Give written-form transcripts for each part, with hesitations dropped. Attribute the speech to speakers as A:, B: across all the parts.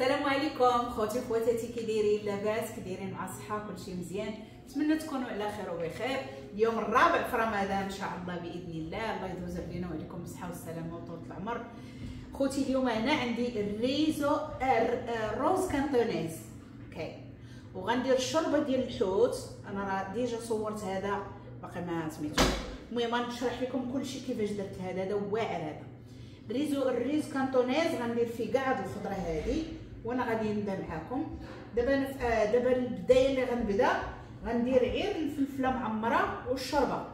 A: السلام عليكم خوتي خواتاتي، كي دايرين؟ لاباس؟ كي دايرين مع الصحة؟ كلشي مزيان؟ نتمنى تكونوا على خير وبخير. اليوم الرابع في رمضان ان شاء الله باذن الله، الله يدوز علينا وعليكم بالصحة والسلامة وطول العمر. خوتي اليوم انا عندي ال riso الروز cantonese، okay، وغندير الشوربة ديال الحوت. انا راه déjà صورت هذا، باقي ما سميتو. المهم غنشرح لكم كلشي كيفاش درت هذا. هذا واعر، هذا riso ال riso cantonese. غندير فيه كاع هاد الخضرة هادي وانا غادي نبدا معاكم دابا. دابا البداية اللي غنبدا غندير غير الفلفله معمره والشوربه.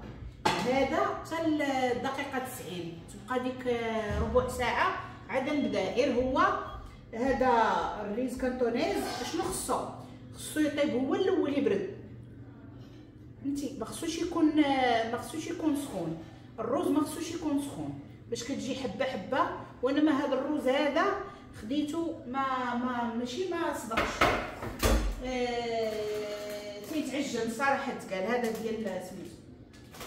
A: هذا حتى الدقيقة 90 تبقى ديك ربع ساعة عاد نبدا. غير هو هذا ال riso cantonese شنو خصو؟ خصو يطيب هو الاول، يبرد، فهمتي؟ ما خصوش يكون، ما خصوش يكون سخون الروز، ما خصوش يكون سخون باش كتجي حبه حبه. وانا ما هذا الروز هذا خديته ما ماشي ما صدقش، تيتعجن صراحة. تقال هذا ديال سميتو،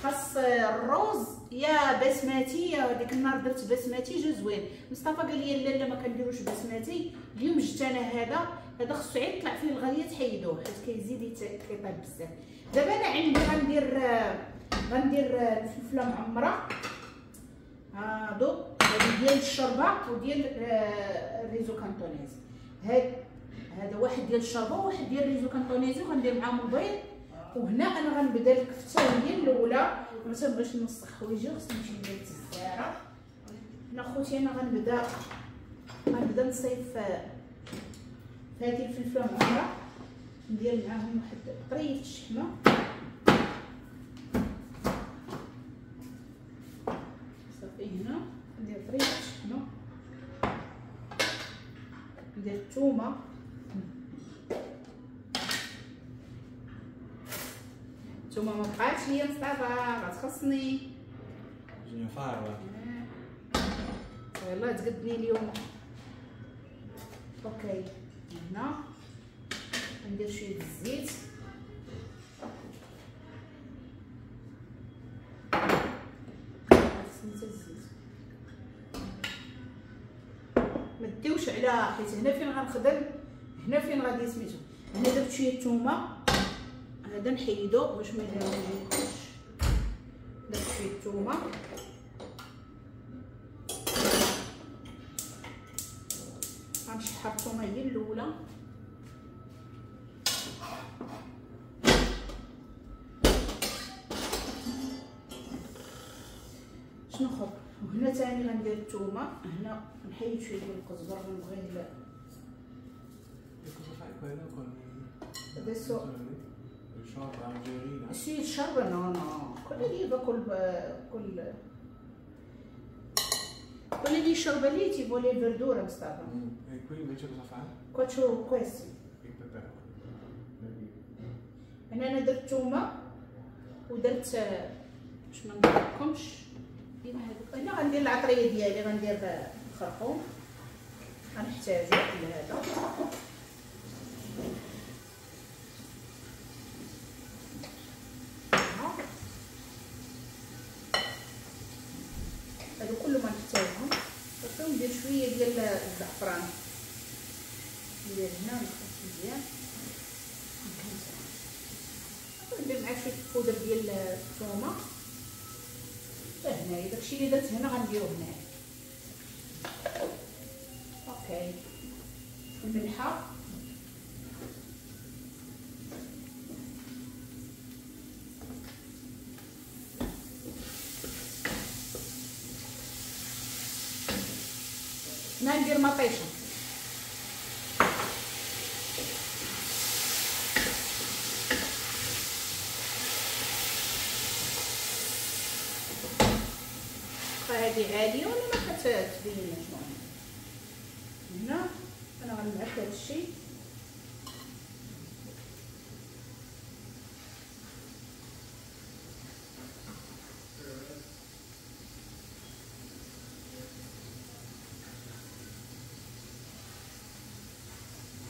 A: خاص الروز يا بسماتي. يا ديك النهار درت بسماتي جا زوين. مصطفى قال لي لا لا ما كنديروش بسماتي. اليوم جبت انا هذا. هذا خصو عيد يطلع فيه الغليه تحيدوه حيت كيزيد كيطيب بزاف. دابا انا عندي غندير الفلفله معمره، هادو ديال الشوربة وديال ال riso cantonese. هذا واحد ديال الشوربة وواحد ديال ال riso cantonese، وغندير معاهم البيض. وهنا انا غنبدا الكفتة هي الاولى. ما تنبغيش نوسخ حوايجي، خصني نمشي ندير التزاره. هنا خوتي انا غنبدا نصيف في هذه الفلفله معمره، ندير معاهم واحد طريف الشحمه. صافي هنا ندير طريف الشحمه، ندير الثومه، الثومه ما بقاتش هي مصطفى غتخصني. يلاه تقدني اليوم. okay هنا ندير شوية الزيت، خصني حتى الزيت ما ديوش على، حيت هنا فين غنخدم، هنا فين غادي سميتو. هنا درت شوية الثومه، هذا نحيدو باش ما يجيش. درت شوية الثومه، غنشحر الثومه هي الاولى. شنو اخر؟ وهنا ثاني غندير الثومه. هنا نحيد شوية ديال القزبر، غنبغي adesso sì il sciorba no no quello lì va col quello lì sciorba lì ci vuole verdura Mustafa.
B: E qui invece cosa fa?
A: Qua c'ho questi
B: il peperone.
A: هنا انا درت الثومه ودرت باش ما نضربكمش ديما هذوك. هنا غندير العطريه ديالي، غندير الخرقوم، غنحتاجو لهذا. هادو كله ما نحتاجهم. صافي ندير شوية ديال الزعفران، ندير هنا نخلط مزيان. ندير مع شوية البودر ديال الثومه حتى هنايا. داكشي اللي درت هنا غنديرو هنايا. okay الملحة، هنا ندير مطيشه، هذه عالية ولا ما كتبين شنو. هنا انا غنمعك هذا الشيء.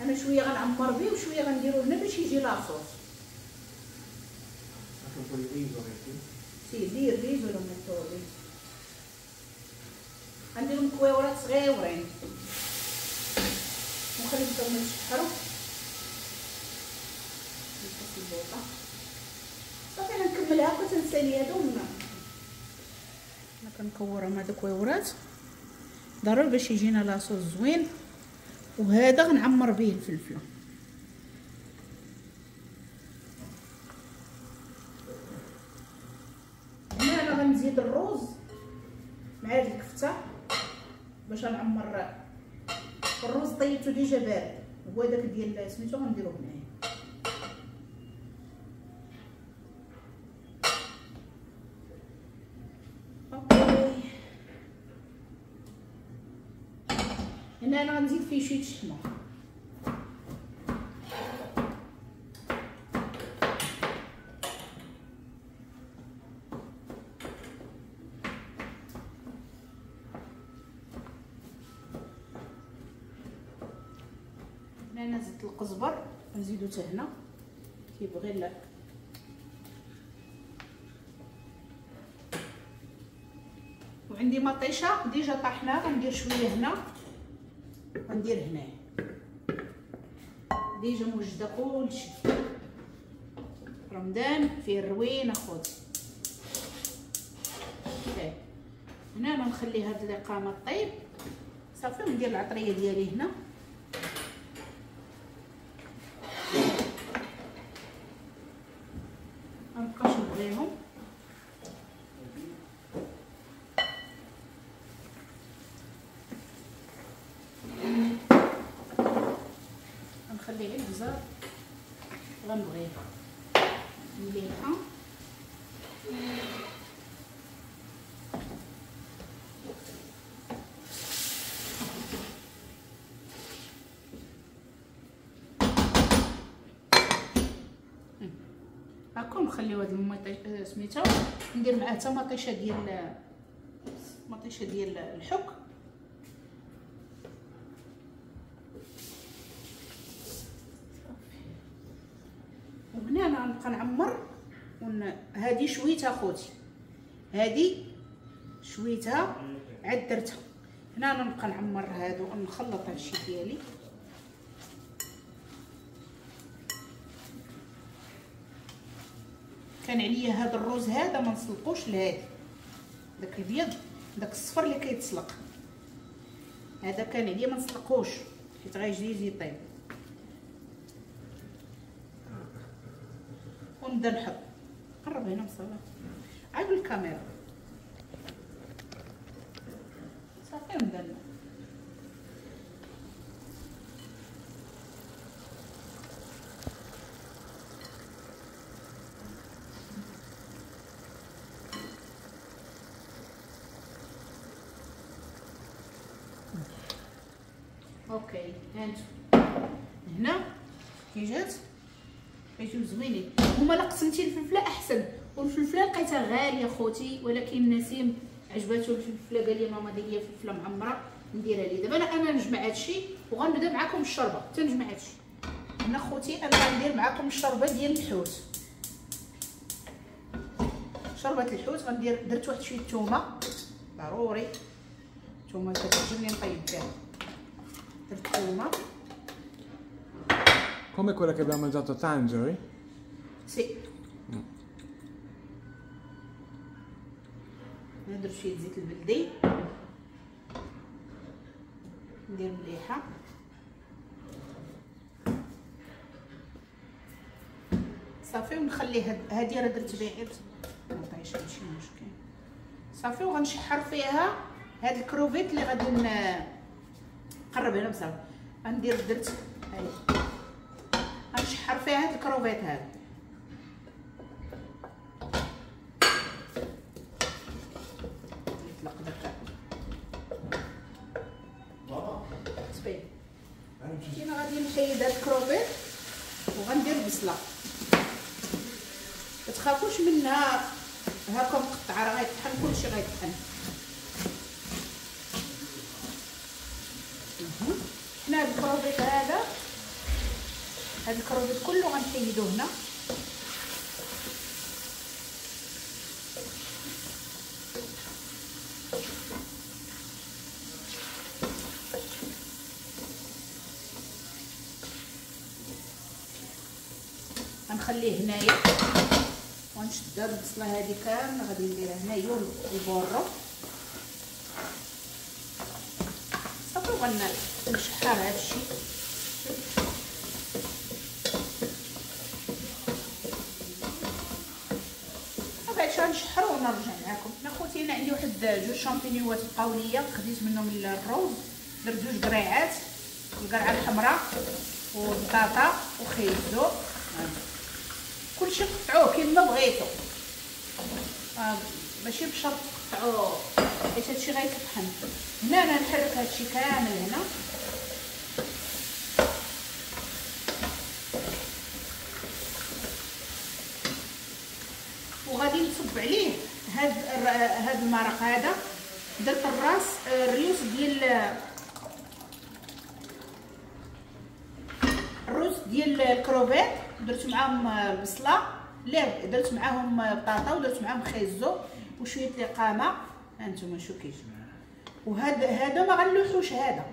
A: انا شوية غنعمر به وشوية غنديرو هنا باش يجي la sauce. Sì, lì il riso lo metto lì. غنديرهم كويورات صغيورين ونخلي حتى هما يتشحروا. نقص البوطه صافي. انا نكمل هكا تنسالي هادو. انا كنكورهم هادوك كويورات ضروري باش يجينا la sauce زوين. وهذا غنعمر به الفلفله. هنا انا غنزيد الروز مع هاد الكفتة باش نعمر الروز. طيبته déjà بارد، هو داك ديال سميتو غنديروه هنايا. okay هنا انا غنزيد فيه شوية الشحمه. هنا انا زدت القزبر، نزيدو حتى هنا كيبغي. لا وعندي مطيشه déjà طاحنة، غندير شوية هنا غندير هنا. déjà موجده كلشي. رمضان فيه الروين اخوتي. هنا انا نخلي هاد الاقامة طيب صافي، وندير العطريه ديالي هنا. منبقاش نبغيهم. غنخلي غير البزار غنبغيه مليحة. هاكا نخليو هاد المطيشه سميتها، ندير معاه حتى مطيشه ديال مطيشه ديال الحك. وهنا انا غنبقى نعمر. هادي شويتها خوتي، هادي شويتها عاد درتها. هنا انا نبقى نعمر هادو ونخلط هادشي ديالي. كان عليا هاد الروز هذا ما نسلقوش لهادي، داك الابيض داك الصفر اللي كيتسلق هذا كان عليا ما نسلقوش حيت غيجي يجي يطيب. ونبدا نحط. قرب هنا مصطفى عاد الكاميرا صافي. ونبدا okay هانتو هنا كي جات كيجيو زوينين. هما لا قسمتي الفلفله احسن، والفلفله لقيتها غالية خوتي، ولكن نسيم عجباتو الفلفله، قال لي ماما دير لي فلفله معمره نديرها لي. دابا انا نجمع هادشي وغنبدا معكم الشربه. حتى نجمع هادشي هنا خوتي. انا غندير معكم الشربه ديال الحوت. شربه الحوت غندير، درت واحد شوية الثومه ضروري، الثومه كتعجبني نطيب بها. درت الثومه.
B: Come quella che abbiamo mangiato a Tangeri?
A: Sì. ندير شوية زيت البلدي، ندير مليحة. صافي ونخلي هادي راه درت بها غير مطيشه ماشي مشكل. صافي وغنشحر فيها هاد الكروفيت اللي غادي نقرب هنا بصافي. غندير درت هاي غنشحر فيها هاد الكروفيت هذا. يطلق داك صافي. انا غادي نحيد هاد الكروفيت وغندير البصله. ما تخافوش منها هاكا مقطعه، راه غيطحن كلشي غيطحن. حنا هاد الكروفيت هذا، هاد الكروفيت كله غنحيدو هنا. غنخليه هنايا ونشد هاد البصله هادي كاملة غادي نديرها هنايا البورو صافي. وغنشحر هادشي. بعد غنشحرو ونرجع معكم. انا خوتي انا عندي واحد جوج شامبينيوات بقاو ليا، خديت منهم الروز، درت جوج قريعات، القرعة الحمراء والبطاطا وخيزو، كلشي قطعوه كيما بغيتو، ماشي بشرط تقطعوه حيت هادشي غيتطحن. هنا انا نحرك هادشي كامل هنا. وغادي نصب عليه هاد المرق هذا. درت الراس الريوس ديال الروز ديال الكروفيت، درت معاهم البصله، لا درت معاهم بطاطا ودرت معاهم خيزو وشوية لقامه. هانتوما شو كيجي. وهذا ما غنلوحوش، هذا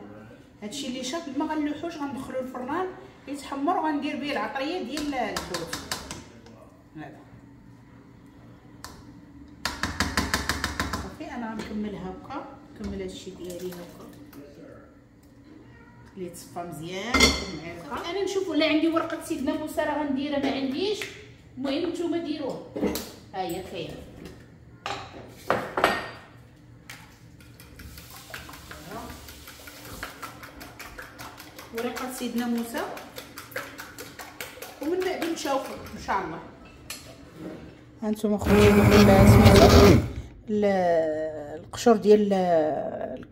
A: هادشي اللي شاط ما غنلوحوش، غندخلو الفران يتحمر وغندير به العطريه ديال الحوت. هذا صافي. انا غنكمل هكا، نكمل هادشي ديالي هكا اللي تصفى مزيان بالمعلقه.
C: انا نشوف ولا عندي ورقة سيدنا موسى راه غنديرها، ما عنديش، المهم نتوما ديروها. ها هي كاينه.
A: ورقة سيدنا موسى، ومن بعد نشوفوا ان شاء الله. هانتوما خوتي القشور ديال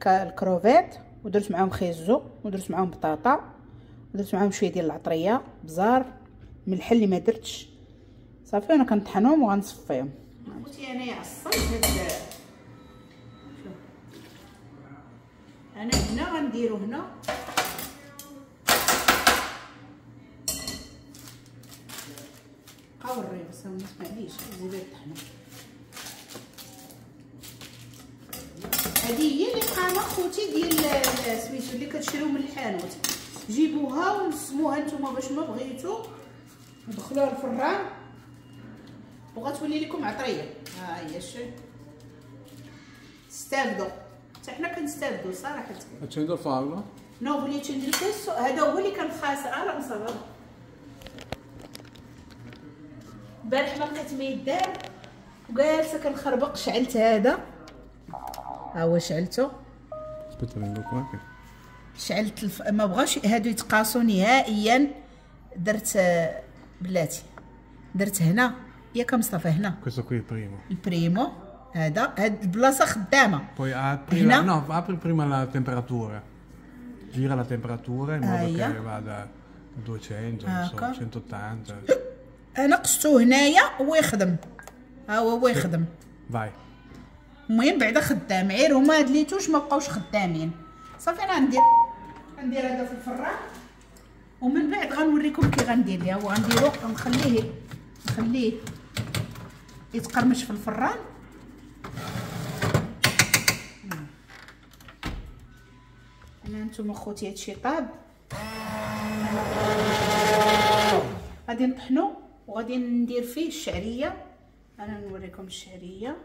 A: الكروفيت، ودرت معاهم خيزو ودرت معاهم بطاطا ودرت معاهم شوية ديال العطريه، بزار، ملح اللي ما درتش. صافي انا كنطحنهم وغنصفيهم. خوتي انايا عصرت هاد، شوف انا هنا غنديرو هنا بقاو الريوس، معليش زيدو طحنو. هذه هي اللي قامه خوتي ديال سميتو اللي كتشريو من الحانوت، جيبوها ونسموها نتوما باش ما بغيتو، ودخلوها الفران وغتولي لكم عطريه. ها هي شي استافدوا، حتى حنا كنستافدوا صراحة.
B: Accendo il farlo.
A: No, voglio accendere questo. هذا هو اللي كان خاسر. راه مصاب البارح ما لقيت ما يدار وجالسه كنخربق، شعلت هذا، ها هو شعلته. شعلت ما بغاوش هادو يتقاسوا نهائيا. درت بلاتي، درت هنا ياك مصطفى، هنا
B: questo qui il primo،
A: ال primo هذا، هاد البلاصة خدامه.
B: Poi apri la, no, apri prima la temperatura, gira la temperatura in modo che vada a 200, non so, 180.
A: انا قصتو هنايا هو يخدم، ها هو يخدم.
B: Vai.
A: المهم بعدا خدام، غير هما هاد les touches ما بقاوش خدامين. صافي انا غندير هذا في الفران ومن بعد غنوريكم كي غندير ليها. وغنديرو غنخليه نخليه يتقرمش في الفران. انا نتوما خوتي هادشي طاب، غادي نطحنو وغادي ندير فيه الشعرية. انا نوريكم الشعرية،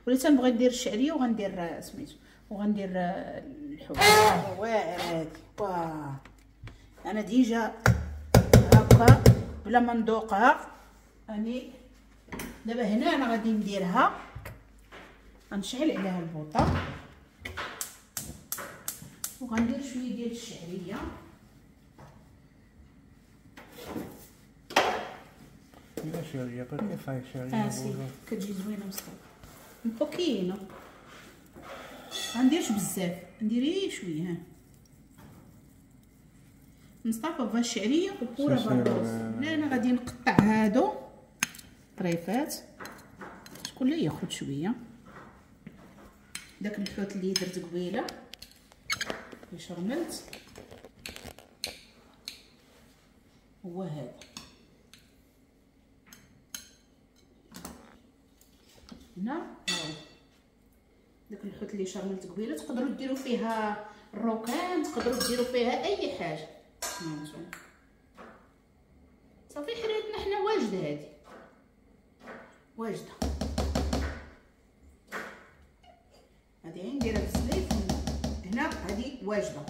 A: ولا تنبغي ندير الشعرية وغندير سميتو وغندير الحوت. واعر هادي، واه انا déjà هكا بلا ما ندوقها. اني دابا هنا انا غادي نديرها، غنشعل عليها البوطه وغندير شوية ديال الشعرية.
B: La sciaria, perché fai sciaria?
A: Sì, كتجي زوينة مصطفى. Un pochino. غنديرش بزاف، ندير غير شوية. ها مصطفى بغا الشعرية وبورا بالروز. هنا انا غادي نقطع هادو طريفات، شكون اللي ياخذ شوية داك الحوت اللي درت قبيلة اللي شرملت هو هذا. هنا هاو داك الحوت اللي شرملت قبيلة، تقدروا ديروا فيها الروكان، تقدروا ديروا فيها اي حاجة. صافي حريتنا حنا واجدة.
C: واجدة هادي واجدة.
A: هادي نديرها في الزليف هنا، هادي واجدة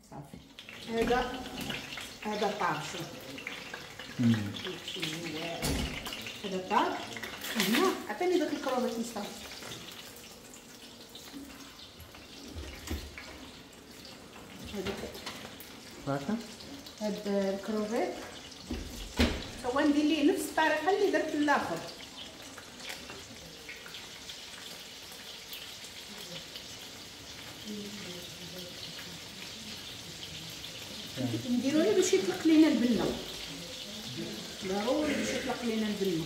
A: صافي. هذا طاب، شوف هذا طاب. هنا عطيني داك الكروفيت مصطفى. هذيك هاد الكروفيت هو ندير ليه نفس الطريقة اللي درت للاخر. نديرو له باش يطلق لينا البنه، ضروري باش يطلق لينا البنه.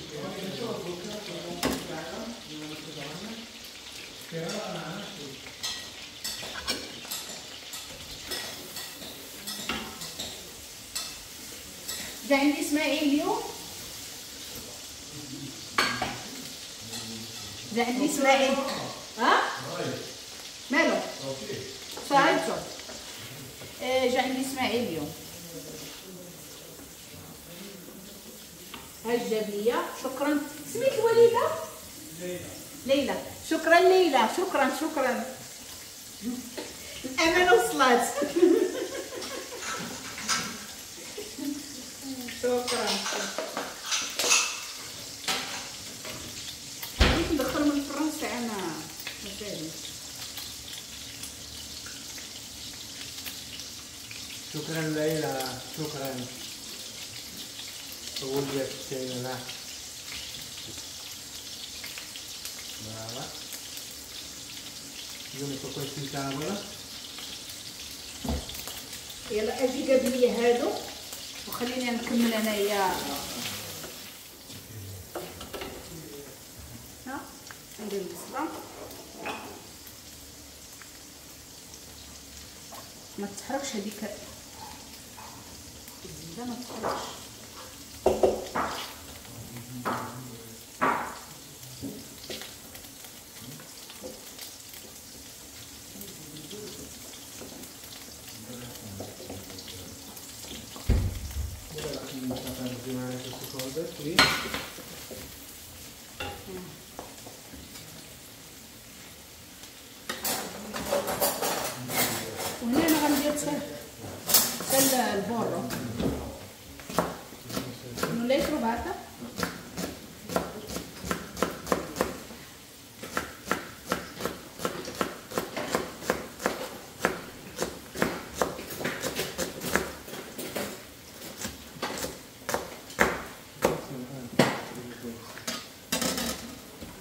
A: جا عندي اسماعيل اليوم، جا عندي اسماعيل. ها مالو صاحبته. جا عندي اسماعيل اليوم، ها جاب ليا. شكرا. سميت الوالدة؟ ليلى. ليلى، شكرا ليلى، شكرا شكرا. الامانة وصلت. شكرا. بغيت ندخل من الفرن ساعة ما مازال.
B: شكرا ليلى، شكرا. Là. Brava. Io metto questo in tavola.
A: يلا اجي جاب لي هادو وخليني نكمل انايا. ها ندير البصله ما تحرقش، هذيك الزبدة ما تحرقش. وهنا انا غندير حتى ال burro. Non l'hai trovata?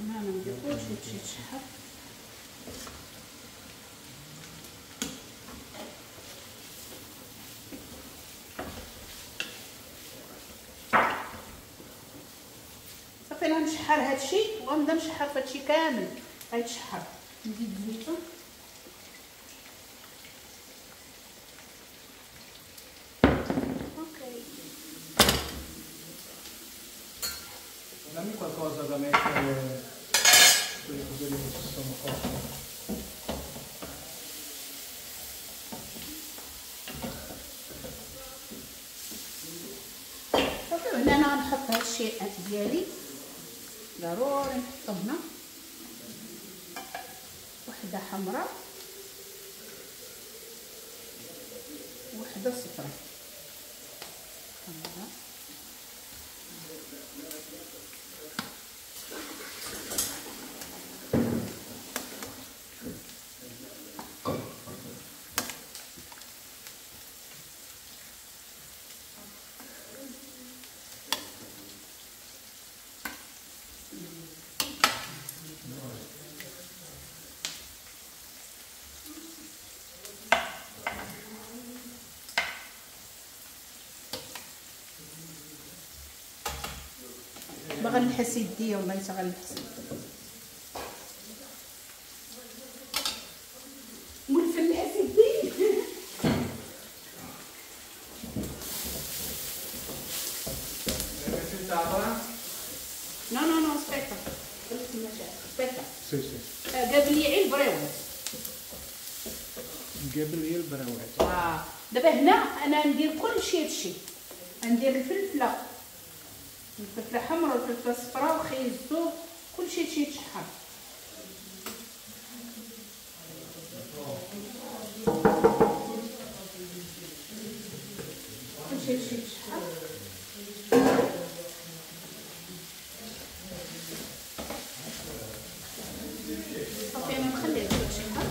A: هنا ندير كلشي يتشحر. صافي انا نشحر هادشي وغنبدا نشحر في هادشي كامل غيتشحر. نزيد الزيتون. okay.
B: Dammi qualcosa da mettere quelle cose lì che ci sono cotte.
A: صافي هنا انا غنحط هادشي ديالي ضروري نحطو هنا. وحده حمراء وحده صفراء. حمراء باغا نحس يديا والله حتى غنحس. مولفه نحس يدي. no no no aspetta، aspetta.
B: sì sì.
A: جاب لي غير البريوات.
B: جاب لي البريوات.
A: دابا هنا انا ندير كلشي هادشي. ندير الفلفله الفلفله حمراء والفلفله صفراء وخيزو كلشي هادشي يتشحر. كلشي هادشي يتشحر. صافي انا نخليها تتشحر.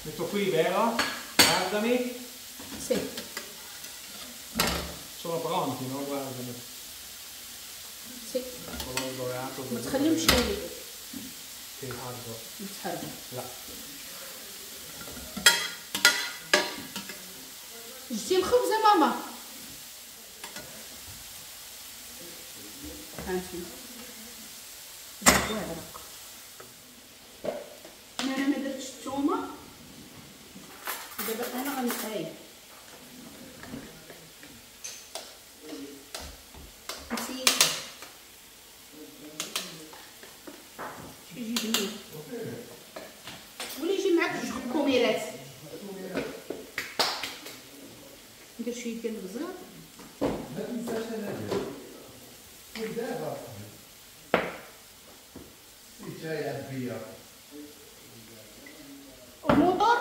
B: Metto qui, vero? Guardami.
A: Sì.
B: Sono pronti, no? Guardami.
A: Sì.
B: Colore dorato.
A: ما تخليهمش
B: يتحرقوا.
A: يتحرقوا.
B: لا.
A: جبتي الخبزة ماما؟ هانتي. واعرة. انا ما درتش الثومه. دابا انا غنقايل. نسيت شي يجي بنين ولا يجي معاك جوج كوميرات. ندير شوية ديال البزار.
B: ما تنساش انا دابا جاي عبيه
A: الموطور.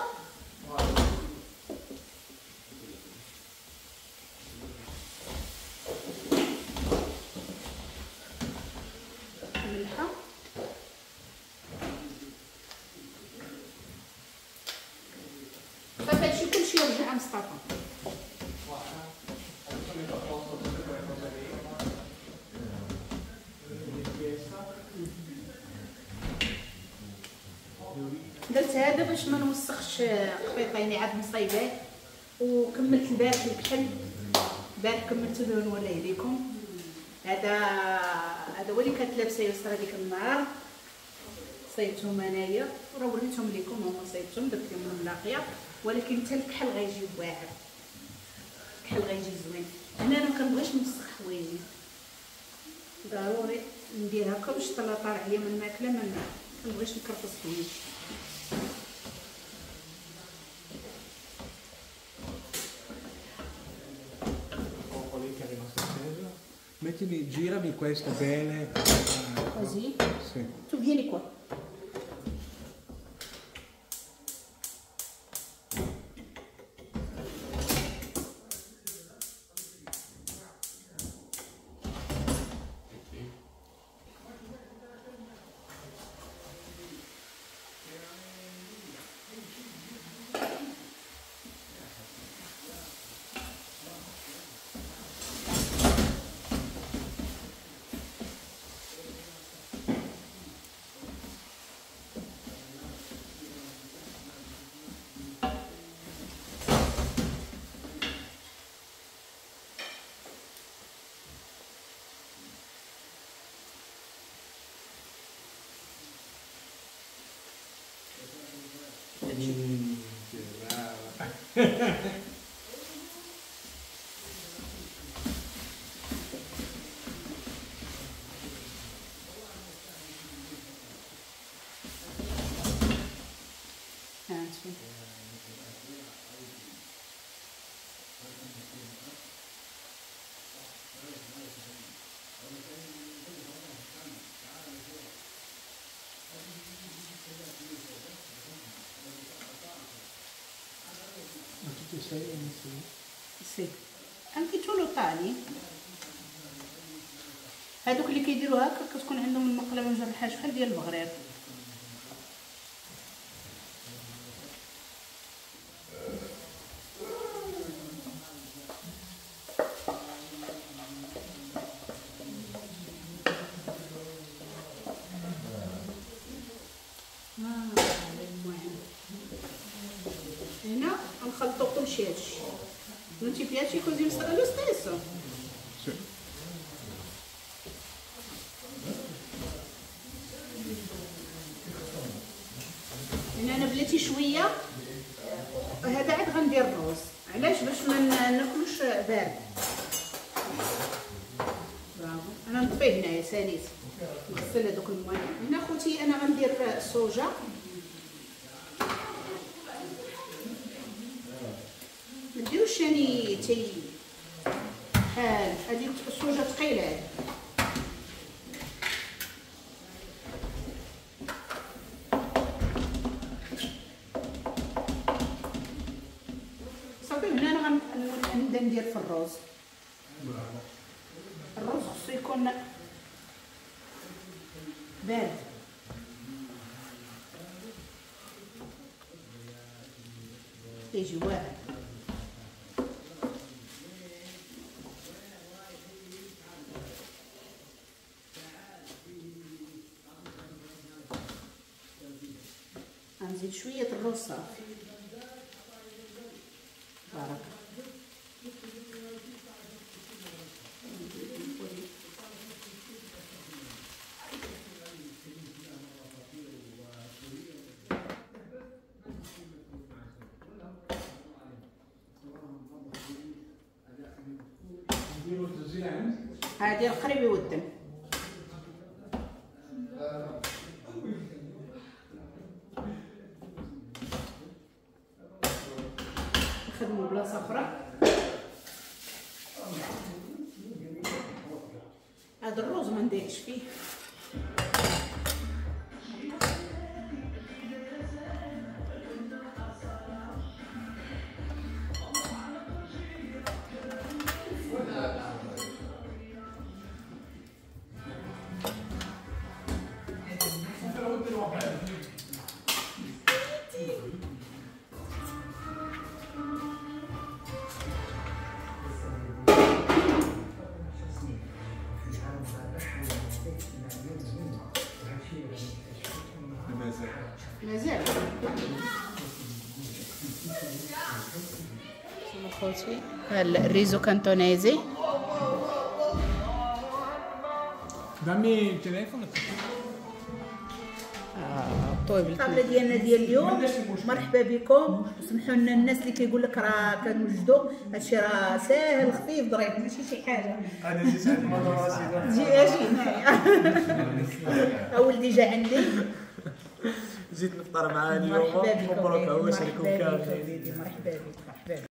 A: الملحة صافي هادشي كلشي يرجع مصطفى. درت هذا باش ما نوسخش قفيطيني عاد مصايباه. وكملت البارح الكحل، البارح كملته نوريه لكم. هذا هو اللي كانت لابسه يسرا ديك النهار، صايبتهم انايا وراه وريتهم لكم، هما صايبتهم درت لهم الملاقيه. ولكن حتى الكحل غيجي واعر، الكحل غيجي زوين. هنا انا ما كنبغيش نوسخ حوايجي، ضروري ندير هكا باش طلع طالع عليا من الماكلة، ما كنبغيش نكرفس حوايجي.
B: Mettimi, girami questo bene.
A: Così?
B: Sì.
A: Tu vieni qua.
B: Che brava.
A: Sì.
B: Ma tutti e sei inizi?
A: Sì. Anche tu lo tagli؟ هادوك اللي كيديروا هكا كتكون عندهم المقله ما مجرحاش بحال ديال البغرير. المهم هنا غنخلطو كلشي هادشي. Non ti piace così lo stesso?
B: Sì.
A: هنا انا بلاتي شوية هذا عاد غندير الروز. علاش؟ باش ما ناكلوش بارد. برافو. انا نطفيه هنايا ساليت، نغسل هذوك المواعين. هنا خوتي انا غندير الصوجه. ديروش ثاني تي بحال هادي الصوجه ثقيلة هادي. صافي هنا انا غنبدا ندير في الروز. الروز خصو يكون بارد. يجي واعر. غنزيد شوية الروز صافي. بارك. هادي القريب يودن. نخدمو بلاصة اخرى. هذا الروز ما نديرش فيه. مازال خوتي ال riso cantonese.
B: Dammi il telefono.
A: طيب الطابله ديالنا ديال اليوم، مرحبا بكم. وسمحوا لنا الناس اللي كيقول لك راه كنوجدوا هادشي، راه ساهل خفيف ظريف ماشي شي حاجة.
B: انا جيت عند ماما
A: جي اجي هنايا. ولدي جا عندي،
D: جيت نفطر معاه اليوم. مبروك عواشركم كاملين.
A: مرحبا بك مرحبا بك.